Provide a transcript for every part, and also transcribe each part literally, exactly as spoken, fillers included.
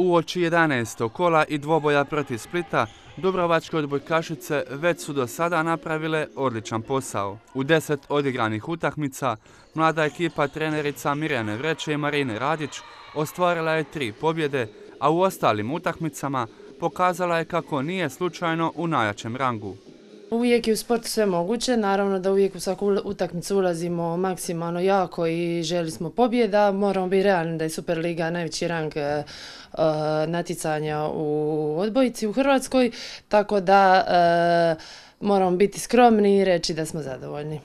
Uoči jedanaestog kola i dvoboja protiv Splita, dubrovačke odbojkašice već su do sada napravile odličan posao. U deset odigranih utakmica, mlada ekipa trenerica Mirjane Vreće i Marine Radić ostvarila je tri pobjede, a u ostalim utakmicama pokazala je kako nije slučajno u najjačem rangu. Uvijek je u sportu sve moguće, naravno da uvijek u svaku utakmicu ulazimo maksimalno jako i želi smo pobjeda. Moramo biti realni da je Superliga najveći rang e, natjecanja u odbojci u Hrvatskoj, tako da e, moramo biti skromni i reći da smo zadovoljni.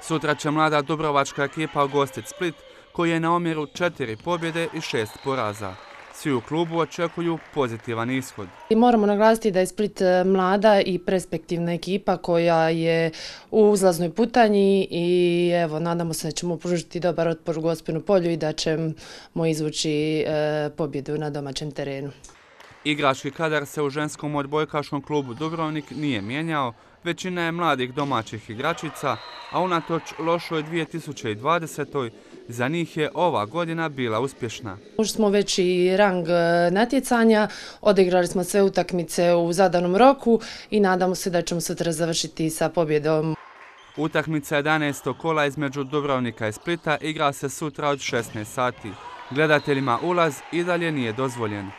Sutra će mlada dubrovačka ekipa ugostiti Split, koji je na omjeru četiri pobjede i šest poraza. Svi u klubu očekuju pozitivan ishod. I moramo naglasiti da je Split mlada i perspektivna ekipa koja je u uzlaznoj putanji i evo, nadamo se da ćemo pružiti dobar otpor u Gospinu polju i da ćemo izvući e, pobjedu na domaćem terenu. Igrački kadar se u ženskom odbojkaškom klubu Dubrovnik nije mijenjao, većina je mladih domaćih igračica, a unatoč lošoj dvije tisuće dvadesetoj za njih je ova godina bila uspješna. Ušli smo već i rang natjecanja, odigrali smo sve utakmice u zadanom roku i nadamo se da ćemo sutra završiti sa pobjedom. Utakmica jedanaestog kola između Dubrovnika i Splita igra se sutra od šesnaest sati. Gledateljima ulaz i dalje nije dozvoljen.